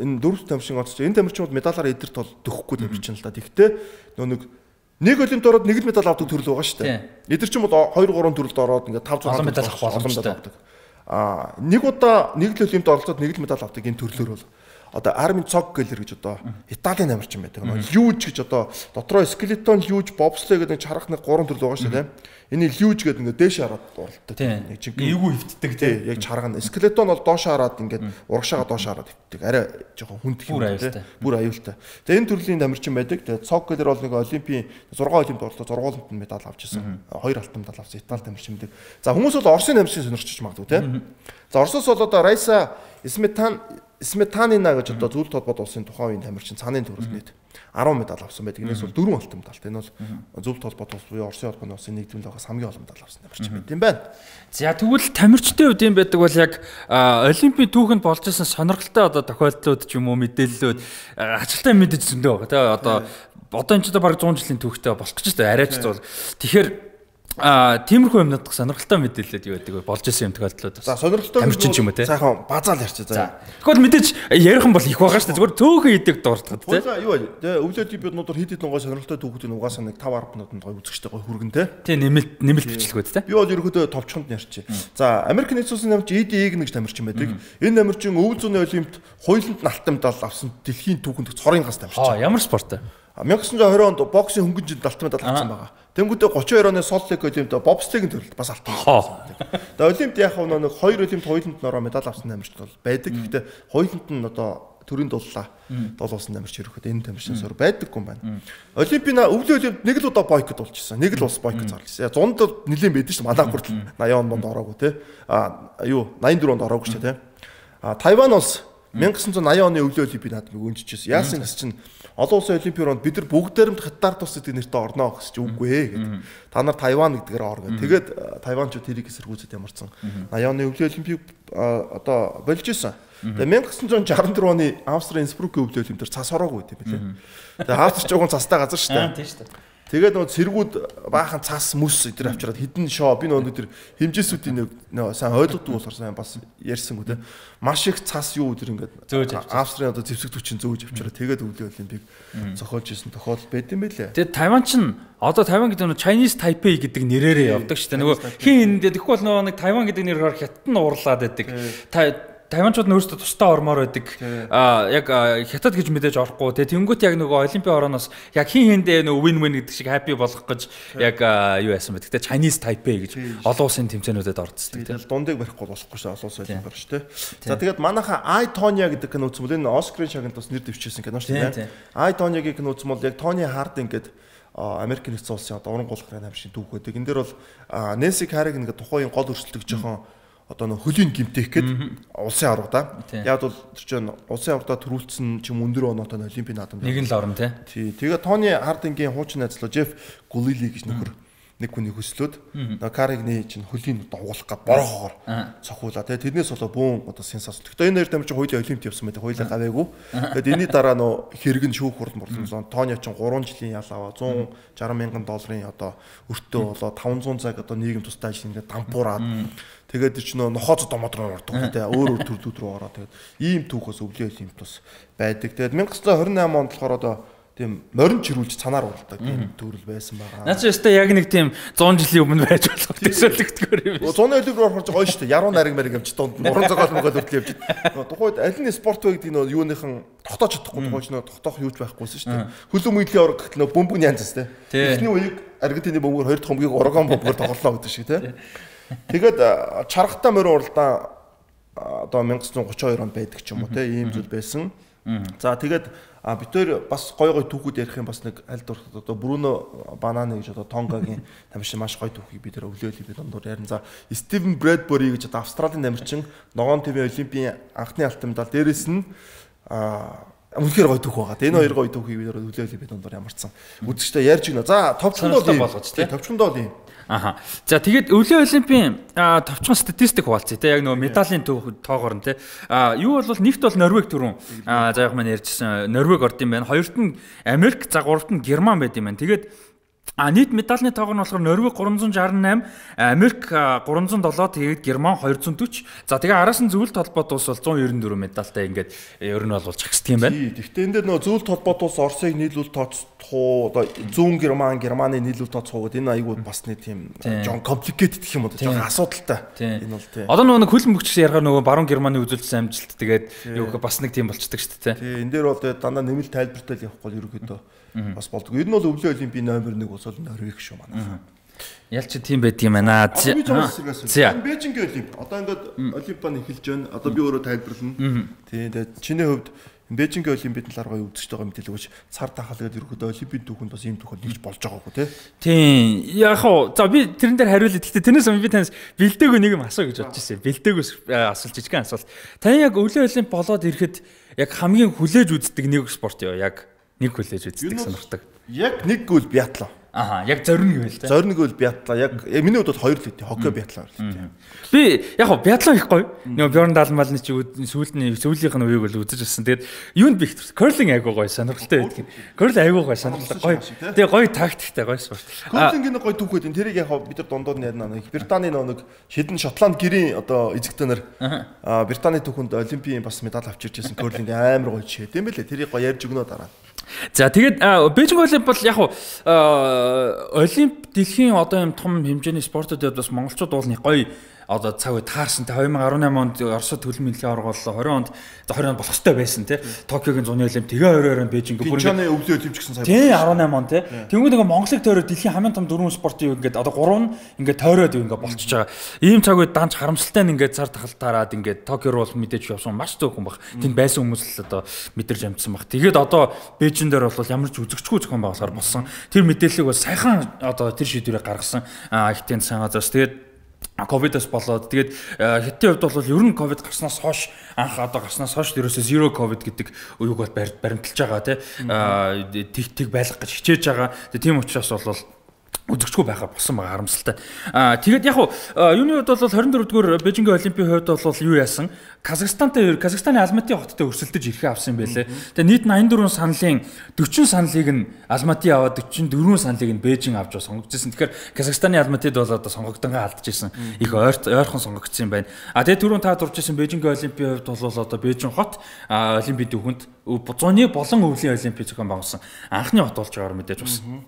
энэ дөрөв тамирчин оцсон. Энэ тамирчин бол медалаараа эдэрт бол дөхөхгүй тамирчин л да. Тэгвэл нэг олимпиад ороод нэг л медаль авдаг төрөл байгаа шүү дээ. Эдэр чинь бол 2 3 төрөлд ороод ингээд 500 медаль авах боломжтой. Нэг удаа нэг л олимпиад оролцоод нэг л медаль авдаг энэ төрлөөр бол одоо Армин Цоггелер гэж одоо Италийн намирчин байдаг. Люж гэж одоо дотроо скелетон люж бобслей гэдэг чарах нэг 3 төрөл байгаа шүү дээ. Энийг люж гэдэг ингээд дээш хараад уралдаг. Нэг жинхэнэ эвгүй хөвтдөг тийм. Яг чарга нь скелетон бол доош хараад ингээд урагшаага доош хараад хөвтдөг. Арай жоохон хүндх юм тийм. Бүр аюултай. Тэгээ энэ төрлийн намирчин байдаг. Тэгээ Цоггелер бол нэг Олимпийн 6 олимпиад орлоо 6 олимпиад медаль авч ирсэн. 2 алтан медаль авсан Итали намирчин байдаг. За хүмүүс бол Оросын намирчин сонирхож магадгүй тийм. За Оросоос бол одоо Райса Сметанина гэж одоо зөвлөлт холбоот улсын тухайн үеийн тамирчин цааны төрөлд 10 медаль авсан байдаг. Энэс бол 4 алтан медаль. Энэ бол зөвлөлт холбоот улс буюу Оросын холбооны улсын нэгдмэл байгаас хамгийн олон медаль авсан тамирчин байт юм байна. За тэгвэл тамирчдын хувьд юм байдаг бол яг Олимпийн түүхэнд болж исэн сонирхолтой одоо тохиолдлууд ч юм уу мэдээллүүд ажилтаа мэдэж зөндөө байгаа. Одоо энэ ч одоо бараг 100 жилийн түүхтэй болох гэж байна. Арайч бол. Тэгэхээр тиймэрхүү юмнууд сонирхолтой мэдээлэлд юу байдаг вэ? Болж исэн юм тохиолдлууд. За сонирхолтой юм те. Сайхан базаал ярьчих. За. Тэгвэл мэдээж ярих юм бол их байгаа шүү дээ. Зүгээр төөхөн идэг дуртахад те. За юу вэ? Тэгээ өвлөө типүүднуудаар хэд хэдэн гой сонирхолтой түүхүүд нь угаасаа нэг 5 10 минутанд гой үзэгчтэй гой хүргэн те. Тий нэмэлт бичлэгүүд те. Би бол ерөөдөө товчхонд ярьчих. За Америк нэгдсэн улсын намирч ED гэж тамирчин байдаг. Энэ намирчин өвөл зүүнний олимпиад хоёуланд нь алтан медаль авсан дэлхийн түүхэнд цорын гас тамирчин. Ямар спорт вэ? 1920 онд боксын хөнгөнжинд алтан медаль авсан байгаа. Тэнгүүдээ 32 оны Солт Лейк олимпиад бобслейгийн төрөлд бас алтан медаль. Тэгээ олимпиад яг нэг 2 олимпиад хоёуланд нөрөө медаль авсан тамирчид бол байдаг. Гэхдээ хоёуланд нь одоо төрийн дуллаа долоосон тамирч ирэхэд энэ тамирчин сор байдаггүй юм байна. Олимпийн өвлийн олимпиад нэг л удаа бойкот болчихсон. Нэг л улс бойкот зарласан. Зунд нэлийн байдаг шүү дээ. Манай хүртэл 80 онд ороогүй те. 84 онд ороогүй шүү дээ те. Тайван улс 1980 оны өвлийн олимпиад наадмыг өнжижсэн. Яасан гэс чинь олон улсын олимпиад бид нар бүгдээрээ хятад тус гэдэг нэртэй орно гэж чи үгүй ээ гэдэг. Та нар Тайван гэдгээр ор гэдэг. Тэгээд Тайванчууд тэрийг эсэргүүцэд ямарсан. 80 оны өвлийн олимпийг одоо болж исэн. Тэгээ 1964 оны Австрийн Инсбрукийн өвлийн олимпиад цас ороогүй гэдэг юм билээ. Тэгээ Австрич жоохон цастай газар шүү дээ. Тийм шүү дээ. Тэгээд нөгөө цэргүүд баахан цас мүс эдгээр авчираад хідэн шоо би нөгөө тэр хэмжээсүүдийн нөгөө сайн ойлгодгүй болохоор сайн бас ярьсангүй те маш их цас юу өдр ингээд Австрийн одоо зэвсэг түвчин зөөж авчираад тэгээд өвлийн олимпийг зохиолж исэн тохиолдол байд юм байлээ. Тэгээд Тайван ч одоо Тайван гэдэг нь Chinese Taipei гэдэг нэрээрээ явдаг шүү дээ. Нөгөө хин тэгэхгүй бол нөгөө нэг Тайван гэдэг нэрээр хятад нь уурлаад байдаг. Тайванчууд нь өөрсдөө тусдаа ормоор байдаг. Яг хятад гэж мэдээж орохгүй. Тэгээ тэнгуут яг нөгөө олимпийн орооноос яг хин хиндээ нөгөө win-win гэдэг шиг happy болох гэж яг юу яасан бэ? Тэгээ Chinese Taipei гэж олон улсын тэмцээнүүдэд орцдог. Тэгээ дундыг барихгүй болохгүй шүү олон улсын олимпиар шүү дээ. За тэгээд манайха Ай Тоня гэдэг кино үзсэн бол энэ Оскарын шагналд бас нэр дэвшижсэн кино шүү дээ. Ай Тонягийн кино үзсэн бол яг Тони Хардинг гэдэг Америк нэгдсэн улсын одоо уран гулгын намшийн түүх байдаг. Энэ дээр бол Нэнси Карриgan гэдэг тухайн гол өрсөлдөг жоохон одоо нөх хөлийн гимтэх гээд улсын авраг да. Яг бол тэр чинь улсын аврагта төрүүлсэн ч юм өндөр оноотой олимпийн наадамд нэг нь л орно тий. Тэгээ Тони Хардингийн хуучин найзлаа Жеф Гулили гэж нөхөр нэг хүний хөслөөд Карригны чинь хөлийн дагуулах гад борохоор цохиулаа. Тэгээ тэрнээс болоо бүүн одоо сенсац. Гэхдээ энэ хоёр тамирчин хоёулаа олимпиад явсан байдаг. Хоёулаа гаваагүй. Тэгээд энэний дараа нөө хэрэг нь шүүх хурд мурлан. Тони чинь 3 жилийн ял аваа 160 мянган долларын одоо өртөө болоо 500 цаг одоо нийгэм тустай ажил ингээд дампуураад тэгээд чи нохооц домодроор ордог те өөр төрлүүд рүү ороо тэгээд ийм түүхээс өвлийн олимпиад бас байдаг. Тэгээд 1928 онд болохоор одоо тийм морин чирүүлж цанаар уралдаг тийм төрөл байсан байгаа. Наа чи өстой яг нэг тийм 100 жилийн өмнө байж болох төсөөлөгдгөр юм байна. 100 олимпиад орохорч гоё шүү дээ. Яруу нариг мэрэг юмч дунд уран зохиол мөгөл хүртэл явж. Тухайд аль нь спорт вэ гэдэг нь юуныхан тогтоож чадахгүй тухайч нөө тогтоох юуч байхгүйсэн шүү дээ. Хөлөө мөдлийн орог гэхэл нөө бөмбөг янзс те. Эхний үеийг Аргентины бөмбөөр 2 дахь бөмбөгийг Орогон бөмбөөр тоглолоо гэдэг шиг те. Тэгээд чаргатай морин уралдаан одоо 1932 онд байдаг ч юм уу те ийм зүйл байсан. За тэгээд бид тээр бас гой түүхүүд ярих юм бас нэг аль дуртад одоо Бруно Бананы гэж одоо Тонгагийн тамирчин маш гой түүхийг бид тээр өвлөө олимпиад дондор ярина. За Стивен Брэдбери гэж одоо Австралийн тамирчин ногоон твийн олимпийн анхны алтан медаль дээрээс нь үнэхээр гой түүх байгаа. Энэ хоёр гой түүхийг бид тээр өвлөө олимпиад дондор ямарсан. Үзэгчтэй ярьж гинэ. За товчхондоо болгож тий. Товчхондоо юм. Аха. За тэгээд өвлийн олимпийн товчхон статистик хуваалцъя те яг нөгөө медалийн тоогоор нь те юу бол нэгт бол Норвег түрүүн за яг маань ярьжсэн Норвег орд юм байна. Хоёрт нь Америк, за гуравт нь Герман байд юм байна. Тэгээд нийт медалийн тоогоор нь болохоор Норвег 368, Америк 307, тэгээд Герман 240. За тэгээ араас нь зөвлөлт холбоот улс бол 194 медальтай ингээд ер нь бол чагсдаг юм байна. Гэхдээ энэ дээр нөгөө зөвлөлт холбоот улс Оросыг нийлүүл тоо одоо зүүн Германы нийлүүл тооцоогод энэ айгүй бас нэг тийм жон complicated гэх юм уу жон асуудалтай. Энэ бол тийм. Одоо нөгөө хөлн бөгч яргаар нөгөө баруун Германы үзүүлсэн амжилт тэгээд юу бас нэг тийм болцдог шүү дээ. Тийм. Энэ дээр бол дандаа нэмэлт тайлбартай явахгүй ерөөхдөө бас болдог. Ер нь бол өвлийн олимпийн номер 1 бол Норвег шүү манай. Ялч тийм байдгийм байна. За. Бээжингийн олимп. Одоо ингээд олимпиан эхэлж байна. Одоо би өөрөө тайлбарлана. Тийм. Тэгээд чиний хувьд Бээжингийн олимпиад талаар гоё үзэж байгаа мэдээлэл өгч цар тахал гэдэг ерөөдөө олимпийн түүхэнд бас ийм түүхэнд нэгж болж байгаагүй тий. Тийм. Яг хоо за би тэрэн дээр хариулъя. Гэхдээ тэрнээс өмнө би танаас бэлдээгөө нэг юм асуу гэж бодож ирсэн. Бэлдээгөөс асуулт жижигхэн асуулт. Таны яг өвлийн олимп болоод ирэхэд яг хамгийн хүлээж үздэг нэг спорт юу? Яг нэг хүлээж үздэг сонирхдаг. Яг нэг гол биатлон. Аха, яг зориг гэвэл тэ. Зориг гэвэл биатлон. Яг миний хувьд бол хоёр л үү. Хоккей биатлон хоёр л үү. Би яг хоо биатлон их гоё. Нөгөө Бjorn Dahlmalны чи сүүлийнх нь үеийг бол үзэж ирсэн. Тэгээд юунд би их curling айгуу гоё сонирхолтой байдаг. Curling айгуу гоё сонирхолтой гоё. Тэгээ гоё тактиктэй гоё спорт. Curling-ийн гоё түүх байдаг. Тэрийг яг бид нар дундууд нь ярина. Британий нэг шидэн Шотланд гэрийн одоо эзэгтэй нар Британий түүхэнд олимпийн бас медаль авчирч ирсэн curling амар гоё жишээ. Тийм байлээ. Тэрийг гоё ярьж өгнө дараа. За тэгээд Бээжин олимп бол яг олимп дэлхийн одоо юм том хэмжээний спортуудад бас монголчууд бол нэг гоё одоо цаг үе таарсантай 2018 онд Оросд төлөв мэдлэгийн аварга боллоо 20 онд болох хэрэгтэй байсан тий Токиогийн зуны олимп тэгээ 22-оор Бээжинг бүр Пичаны өвлийн олимп гэсэн сая тий 18 он тий тэгвэл нэг Монголыг тойроод дэлхийн хамгийн том дөрвөн спортын юу ингээд одоо 3 нь ингээд тойроод юу ингээд болчихж байгаа ийм цаг үед данч харамсалтай нь ингээд цар тахалтаараад ингээд Токио руу мэдээж явсан маш зөөхөн баг тэнд байсан хүмүүс л одоо мэдэрч амжсан баг тэгээд одоо Бээжин дээр бол ямар ч үзэгчгүй зохион байгуулахаар болсон тэр мэдээллийг бас сайхан одоо тэр шийдвэрийг гаргасан ихтэй сайн газраас тэгээд ковидос болоод тэгээд хятадын хувьд бол ер нь ковид гарснаас хойш анх одоо гарснаас хойш ерөөсөө zero covid гэдэг үеийг бол баримталж байгаа тэг байлгах гэж хичээж байгаа. Тийм учраас бол үзэгчгүй байхаа болсон байгаа харамсалтай. Тэгээд яг юуны хувьд бол 24-р Бээжингийн олимпийн хувьд бол юу яасан? Казахстаны Алматын хоттой өрсөлдөж ирэхээ авсан юм байлээ. Тэгээд нийт 84 саналын 40 саналыг нь Алматын аваад 44 саналыг нь Бээжин авч сонгогдсон. Тэгэхээр Казахстаны Алматад бол одоо сонгогдонгаа алдчихсан. Их ойрхон сонгогдсон юм байна. Тэгээд түрүүн та дурж ирсэн Бээжингийн олимпийн хувьд бол одоо Бээжин хот олимпийн түүхэнд 100-ны болон өвлийн олимпийн зохион байгуулсан анхны хот болж байгаагаар мэдээж байна.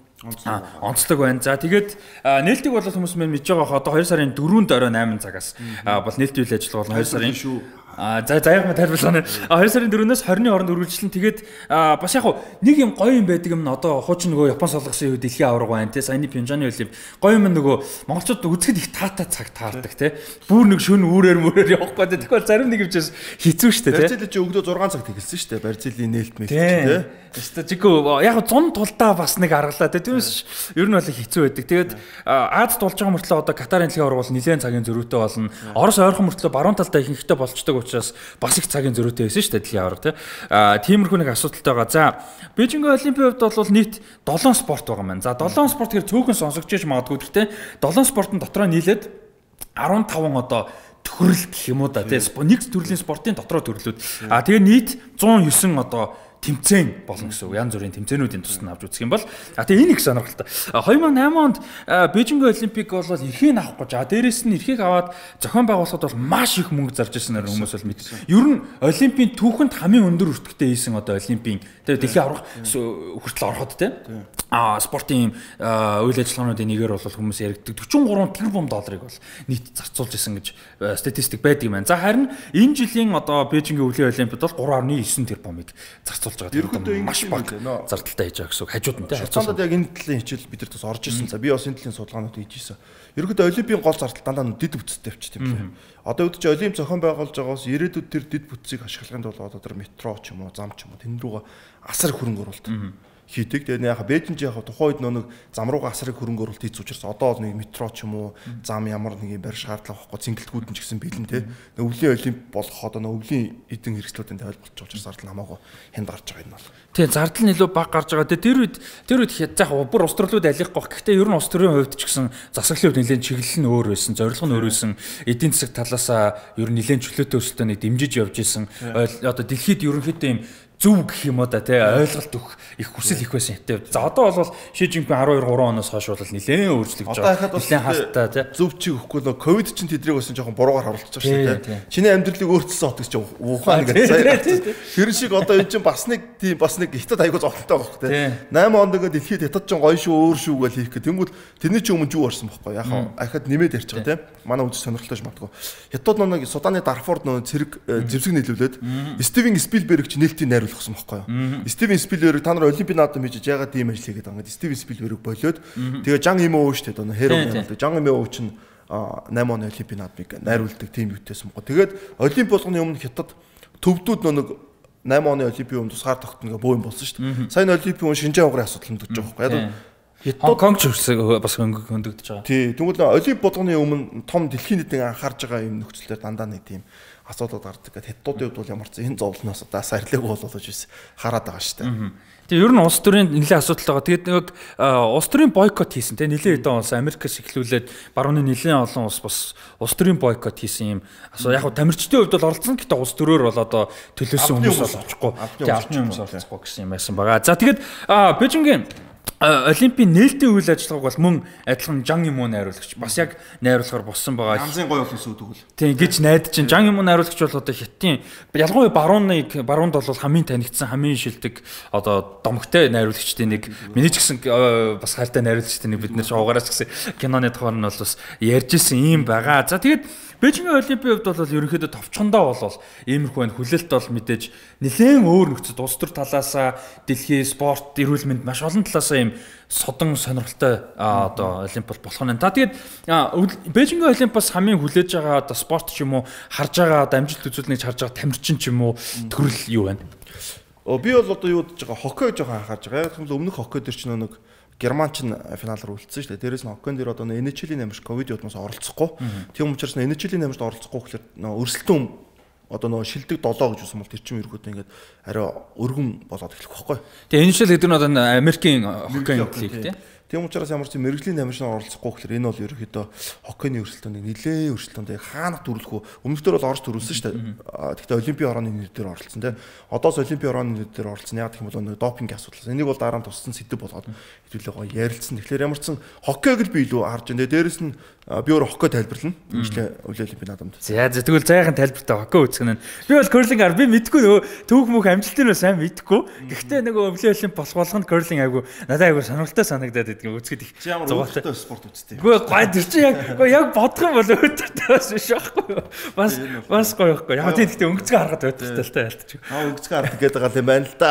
Онцлог байна. За тэгээд нээлтийг бол хүмүүс мэдж байгаа одоо 2 сарын 4-нд орой 8 цагаас бол нээлтийн үйл ажиллагаа бол 2 сарын за яг ма тайлбарлана. 2 сарын 4-өөс 20-ны хооронд үргэлжлэн тэгээд бас яг нэг юм гоё юм байдаг юм одоо хуучин нөгөө Япон солонгосын үед дэлхийн аварга байна те саяны Пинжаны олимп гоё юм нөгөө монголчууд үзэхэд их таатай цаг таардаг те бүр нэг шөнө үүрээр явахгүй те тэгэхээр зарим нэг юмчээс хэцүү штэ те Барзил чи өгдөө 6 цаг тэгэлсэн штэ Барзилийн нээлт мэлт те Тэстэ жигөө яг 100 тулдаа бас нэг аргалаа те түүнээс ер нь бол хэцүү байдаг. Тэгээд Азад болж байгаа мөртлөө одоо Катарын дэлхийн аварга бол нэлээд цагийн зөрүүтэй болно. Орос ойрхон мөртлөө баруун талдаа ихэнхдээ болцдог учраас бас их цагийн зөрүүтэй байсан шүү дээ дэлхийн аварга те. Тиймэрхүү нэг асуудалтай байгаа. За Бээжингийн олимпийн хувьд бол нийт 7 спорт байгаа маань. За 7 спорт гэхээр цөөхөн сонсогч яж магадгүй гэхдээ 7 спортын дотроо нийлээд 15 одоо төхөрл гэх юм уу да те. Нэг төрлийн спортын дотроо төрлүүд. Тэгээ нийт 109 одоо тэмцээн болно гэсэн үг. Янз бүрийн тэмцээнүүдийн тусад авч үзэх юм бол тэгээ энэ их сонирхолтой. 2008 онд Бээжингийн олимпик бол эрхийг авах гэж дээрээс нь эрхийг аваад зохион байгуулахад бол маш их мөнгө зарж ирсэн хүмүүс бол мэд. Ер нь олимпийн түүхэнд хамгийн өндөр өртөгтэй хийсэн одоо олимпийн тэгээ дэлхийн аврах хүртэл ороход те спортын үйл ажиллагаануудын нэгээр бол хүмүүс яригддаг 43 тэрбум долларыг бол нийт зарцуулж исэн гэж статистик байдаг юм байна. За харин энэ жилийн одоо Бээжингийн өвлийн олимпиад бол 3.9 тэрбумыг зарцуулж байгаа. Маш бага зардалтай хийж байгаа гэсэн үг. Хажууд нь те. Хацаандад яг энэ талын хичээл бид нар бас орж ирсэн. За би бас энэ талын судалгаанууд хийж ирсэн. Ерөнхийдөө олимпийн гол зардал дандаа дэд бүтцтэй явчих тийм лээ. Одоо үүд чи олимп зохион байгуулж байгаас ирээдүйд тэр дэд бүтцийг ашиглахын тулд одоо тэр метро ч юм уу, зам ч юм уу тэн рүүгээ асар хөрөнгө оруулалт хийдэг. Тэгээд яг Бээжин ч яг тухайн үед нэг зам руугаа асрыг хөрөнгө оруулалт хийц учраас одоо бол нэг метро ч юм уу зам ямар нэг юм барь шаардлага байхгүй цэнгэлтгүүд нь ч гэсэн бэлэн те. Өвлийн олимп болох одоо өвлийн эдэн хэрэгслүүдийн тайлбарлаж учраас зардал намаагүй хэнд гарч байгаа юм бол. Тэгээ зардал нь илүү бага гарч байгаа. Тэр үед яг бүр ус төрлүүд алих гох. Гэхдээ ер нь ус төрлийн хувьд ч гэсэн засаглалын хувьд нэлээд чиглэл нь өөр байсан, зорилго нь өөр байсан. Эдийн засаг талаасаа ер нь нэлээд чөлөөтэй өсөлтөнийг дэмжиж явж исэн. Одоо дэлхийд ерөнхийдөө юм зөв гэх юм уу да тий ойлголт өгөх их хүсэл их байсан хэвтэй. За одоо бол Ши Жинпин 12 3 оноос хойш бол нэлээд өөрчлөгдөж байгаа. Нэлээд хаалттай тий. Зөв чи өгөхгүй нөө ковид чинь тэдрийг бас жоохон буруугаар харуулчихсан шүү дээ. Чиний амьдралыг өөрчилсөн хот гэж чинь ухаан гэж сая. Тэр шиг одоо энэ чинь бас нэг хятад аягүй зовлонтой байхгүй тий. 8 онд ингээд дэлхийд хятад чинь гоё шүү өөр шүү гэж хийх гэх. Тэнгүүд тэрний чинь өмнө юу орсон байхгүй. Яг ахад нэмээд ярьж байгаа тий. Манай үзэж сонирхолтой магадгүй. Хятад нэг Суданы Дарфурд нөө цэрэг зэвсэг нийлүүлээд Стивен Спилберг ч нээлтийн найруулсан байхгүй юу. Стивен Спилберг та нар олимпийн наадам хийж яагаад ийм ажил хийгээд байгаа юм. Стивен Спилберг болоод тэгээ Жан Имоо шүү дээ. Хэрэг Жан Имоо чинь 8 оны олимпийн наадмыг найруулдаг тим юутэйсэн мгоо. Тэгээд олимп болгоны өмнө Хятад төвдүүд нэг 8 оны олимпийн өмнө тусгаар тогтно гэх боо юм болсон шүү дээ. Сайн олимпийн өмнө Шинжаан угрын асуудал хөндөгдөж байгаа байхгүй юу. Хонконг ч бас хөндөгдөж байгаа. Тий, тэгвэл олимп болгоны өмнө том дэлхийн нийтийн анхаарж байгаа юм нөхцөлөөр дандаа нэг тийм асуудал гардаг. Хятадуудын хувьд бол ямар ч энэ зовлоноос удаа сарлаг болоод биш хараад байгаа шүү дээ. Тэгээ ер нь улс төрийн нэлээд асуудал байгаа. Тэгээд нэг улс төрийн бойкот хийсэн те нэлээд хэдэн улс Америкээс эхлүүлээд барууны нэлээд олон улс бас улс төрийн бойкот хийсэн юм. Яг хөө тамирчдын хувьд бол оролцсон гэдэг улс төрөөр бол одоо төлөөсөн хүмүүс бол очихгүй. Тэгээ албаны хүмүүс оролцохгүй гэсэн юм байсан байгаа. За тэгээд Бээжингийн Олимпийн нээлтийн үйл ажиллагааг бол мөн адилхан Жан Имоо найруулагч бас яг найруулахаар болсон байгаа. Янзын гоё улс үүдгүүл. Тийм гэж найдаж чинь Жан Имоо найруулагч бол одоо Хятадын ялангуяа баруунд бол хамгийн танигдсан хамгийн шилдэг одоо домогтой найруулагчдын нэг миний ч гэсэн бас хайртай найруулагчдын нэг бид нэр шоугаараас гэсэн киноны тухайд нь бол бас ярьж исэн юм байгаа. За тэгээд Бээжингийн Олимпийн хувьд бол ерөнхийдөө товчхондоо бол иймэрхүү байна. Хүлээлт бол мэдээж нэлээд өөр нөхцөл улс төр талаасаа дэлхийн спорт, эрүүл мэнд маш олон талаасаа ийм содон сонирхолтой одоо олимп болох нь. За тэгээд Бээжингийн Олимпиас хамгийн хүлээж байгаа одоо спорт ч юм уу харж байгаа одоо амжилт үзүүлнэг харж байгаа тамирчин ч юм уу төрөл юу байна? Би бол одоо юу гэж байгаа хоккей жоохон анхаарж байгаа. Яг л өмнөх хоккей дээр ч нэг Герман ч финал руу үлдсэн шүү дээ. Дээрээс нь хоккейн дээр одоо NHL-ийн намжид ковид удмаас оролцохгүй. Тийм учраас NHL-ийн намжид оролцохгүй гэхээр өрсөлдөөн одоо нөгөө шилдэг 7 гэж үсэн бол тэр чинь ерөөдөө ингээд арай өргөн болоод эхлэх байхгүй. Тэгээ NHL гэдэг нь одоо Америкийн хоккейн лиг тийм. Тийм учраас ямар ч мэрэгжлийн намжид оролцохгүй гэхээр энэ бол ерөөдөө хоккейний өрсөлдөөнд нэлээд өрсөлдөөнд хаанах төрүүлэх үү? Өмнөх дөр бол орж төрүүлсэн шүү дээ. Гэхдээ олимпийн орооны нэр дээр оролцсон тийм. Одоос олимпийн орооны нэр дээр оролцсон. Яг гэх юм бол допинг асуудал. Энийг бол дараа нь туссан сэдв болгоод хэвлээ гоё ярилцсан. Тэгэхээр ямар ч хоккейг л би илүү харж байна. Дээрээс нь би өөр хоккей тайлбарлана. Өвлийн олимпийн наадамд. За тэгвэл зайхан тайлбартай хоккей үзэх нь. Би бол керлинг би мэдгүй нөгөө түүх мөх амжилтын нь сайн мэдгүй. Гэхдээ нөгөө өвлийн олимп болгонд керлинг айгу надад айгу сонирхолтой санагдаад идэх үзэхэд их зугаатай спорт үзтээ. Үгүй гой тэр чинь яг бодох юм бол өөртөө бас биш байхгүй юу? Бас гоё байхгүй. Яг тийм гэхдээ өнгөцгөө харахад өдөртэй л тайлтчих. Өнгөцгөө харах гэдэг байгаа юм байна л да.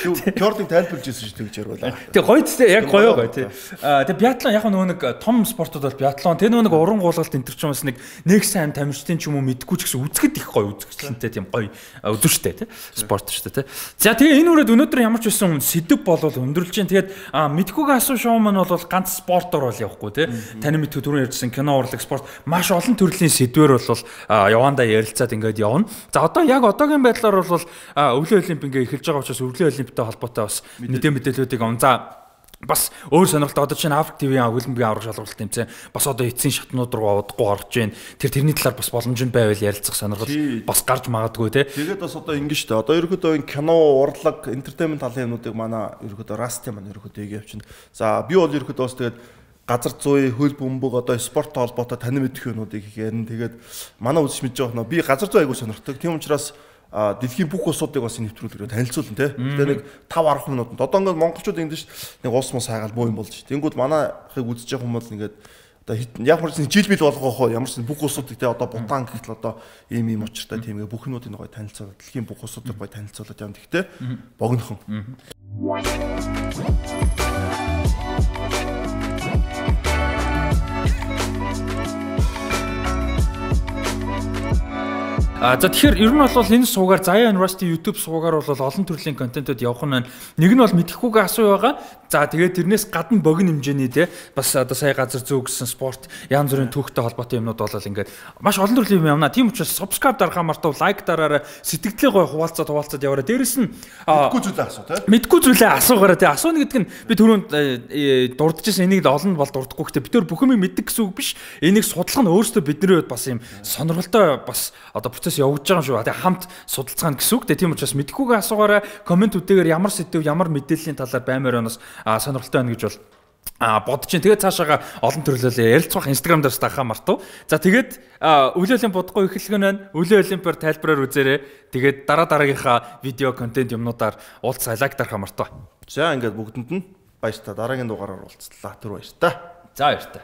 Керлинг тайлбарлаж ирсэн шүү дээ гэж ярилаа. Тэг гоё тест яг гоё тий. Тэг биатлон яг нөгөө нэг том спортууд бол биатлон тэр нөгөө нэг уран гуулгалт энэ төр ч юм бас нэг сайн тамирчдын ч юм уу мэдгүй ч гэсэн үзэхэд их гоё үзэгчлэнтэй тийм гоё өдөртэй тий. Спорт шүү дээ тий. За тэгээ энэ үрээд өнөөдөр ямар ч байсан сэдв болвол өндөрлж जैन. Тэгээд мэдхүүгээ асуу шоу маань бол ганц спортоор бол явахгүй тий. Таны мэдхүү түрүүн ярьжсэн кино урлаг спорт маш олон төрлийн сэдвэр бол явандаа ярилцаад ингээд явна. За одоо яг одоогийн байдлаар бол өвлийн олимп ингээ эхэлж байгаа учраас өвлийн олимпитай холбоотой бас мэдээллүүдийг он. За бас өөр сонирхолтой одоо чинь Африк ТV-ийн хөлбөмбөгийн аврах шалгалт тэмцээн бас одоо эцсийн шатнууд руу удахгүй орж байна. Тэрний талаар бас боломжтой байвал ярилцах сонирхол бас гарч магадгүй те. Тэгээд бас одоо ингэ шүү дээ. Одоо ерөөдөө энэ кино, урлаг, entertainment талын юмнуудыг манай ерөөдөө Rust маань ерөөдөө явчихна. За би бол ерөөдөө бас тэгээд газар зүй, хөлбөмбөг одоо спорт холбоотой тань мэдэх юмнуудыг их ярина. Тэгээд манай үзэж мэдж байгаа нөө би газар зүй айгуу сонирхдаг. Тийм учраас дэлхийн бүх улсуудыг бас нэвтрүүлгээр танилцуулна тий. Тэгээ нэг 5-10 минутанд одоо ингээд монголчууд ингэдэж нэг улс мос хайгаал боо юм болж. Тэнгүүд манайхыг үзэж байгаа хүмүүс ингээд одоо ямар ч жил бил болгоохоо ямар ч бүх улсуудыг тий одоо Бутан гэхэл одоо ийм учиртай тийм бүх юмнуудыг гоё танилцуулаад дэлхийн бүх улсуудыг гоё танилцуулаад явна. Тэгтээ богинохон. За тэгэхээр ер нь бол энэ суугаар Zaya University YouTube суугаар бол олон төрлийн контентууд явах нь байна. Нэг нь бол мэдхгүйгээ асуу байгаа. За тэгээд тэрнээс гадна богино хэмжээний те бас одоо сая газар зөө гэсэн спорт янз бүрийн түүхтэй холбоотой юмнууд бол ингээд маш олон төрлийн юм явна. Тийм учраас subscribe дарахаа мартав, лайк дараарай, сэтгэлдээ гой хуваалцаад яваарай. Дээрэс нь мэдгүй зүйлээ асуу те. Мэдгүй зүйлээ асуугаарай те. Асууна гэдэг нь би түрүүнд дурдчихсан энийг олон бол дурдахгүй гэхдээ бид төр бүх юм мэддэг гэсэн үг биш. Энийг судлах нь өөрөөсөө бидний хувьд бас юм сонирхолтой бас одоо процесс процесс явагдаж байгаа юм шүү. Тэгээ хамт судалцгаана гэсэн үг. Тийм учраас мэдхгүйгээ асуугаарай. Комментүүдээр ямар сэдв, ямар мэдээллийн талаар баймаар өнөөс сонирхолтой байна гэж бол бодож чинь. Тэгээд цаашаага олон төрлөөр ярилцах Instagram дээрс дахаа мартав. За тэгээд өвлийн олимпиадгүй эхлэх нь байна. Өвлийн олимпиар тайлбараар үзээрэй. Тэгээд дараагийнхаа видео контент юмнуудаар уулзаа лайк дарахаа мартав. За ингээд бүгдэнд нь баярлалаа. Дараагийн дугаараар уулзлаа. Түр баярлалаа. За баярлалаа.